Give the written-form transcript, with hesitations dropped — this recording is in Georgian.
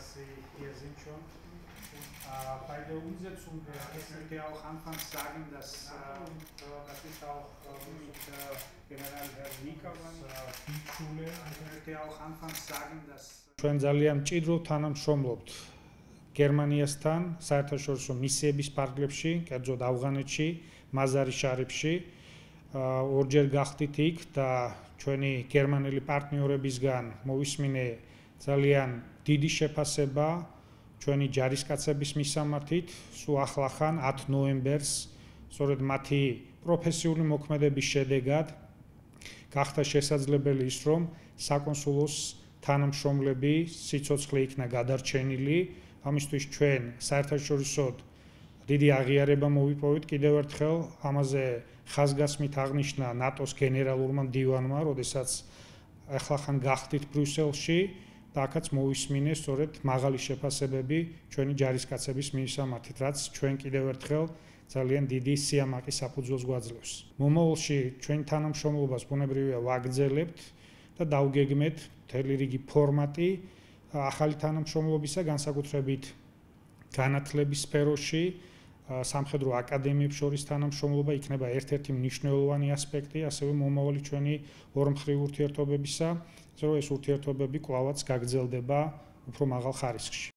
Sie hier sind schon. Bei der Umsetzung möchte ich auch anfangs sagen, dass ist auch mit General Herr Nikavan Schule. Ich möchte auch anfangs sagen, dass ჩვენ ძალიან მჭიდროდ თანამშრომლობთ გერმანიასთან საერთაშორისო მისიების პარკლებში, კერძოდ ავღანეთში, მაზარი-შარიფში. ორჯერ გახდით იქ და ჩვენი გერმანელი პარტნიორებისგან მოვისმინე ძალიან დიდი შეფასება ჩვენი ჯარისკაცების მისამართით. სულ ახლახან 10 ნოემბერს სწორედ მათი პროფესიული მოქმედების შედეგად გახდა შესაძლებელი ის, რომ საკონსულოს თანამშრომლები სიცოცხლე იქნა გადარჩენილი. ამისთვის ჩვენ საერთაშორისოდ დიდი აღიარება მოვიპოვეთ კიდევ ერთხელ. ამაზე ხაზგასმით აღნიშნა ნატოს გენერალურმა მდივანმა, როდესაც ახლახან გახდით ბრიუსელში და აქაც მოვისმინე სწორედ მაღალი შეფასებები ჩვენი ჯარისკაცების მისამართით, რაც ჩვენ კიდევ ერთხელ ძალიან დიდი სიამაყის საფუძველს გვაძლევს. მომავალში ჩვენი თანამშრომლობას ბუნებრივია ვაგრძელებთ და დავგეგმეთ მთელი რიგი ფორმატი ახალი თანამშრომლობისა, განსაკუთრებით განათლების სფეროში, სამხედრო აკადემიებს შორის თანამშრომლობა იქნება ერთ-ერთი მნიშვნელოვანი ასპექტი, ასევე მომავალი ჩვენი ორმხრივი ურთიერთობებისა, რომ ეს ურთიერთობები კვლავაც გაგრძელდება უფრო მაღალ ხარისხში.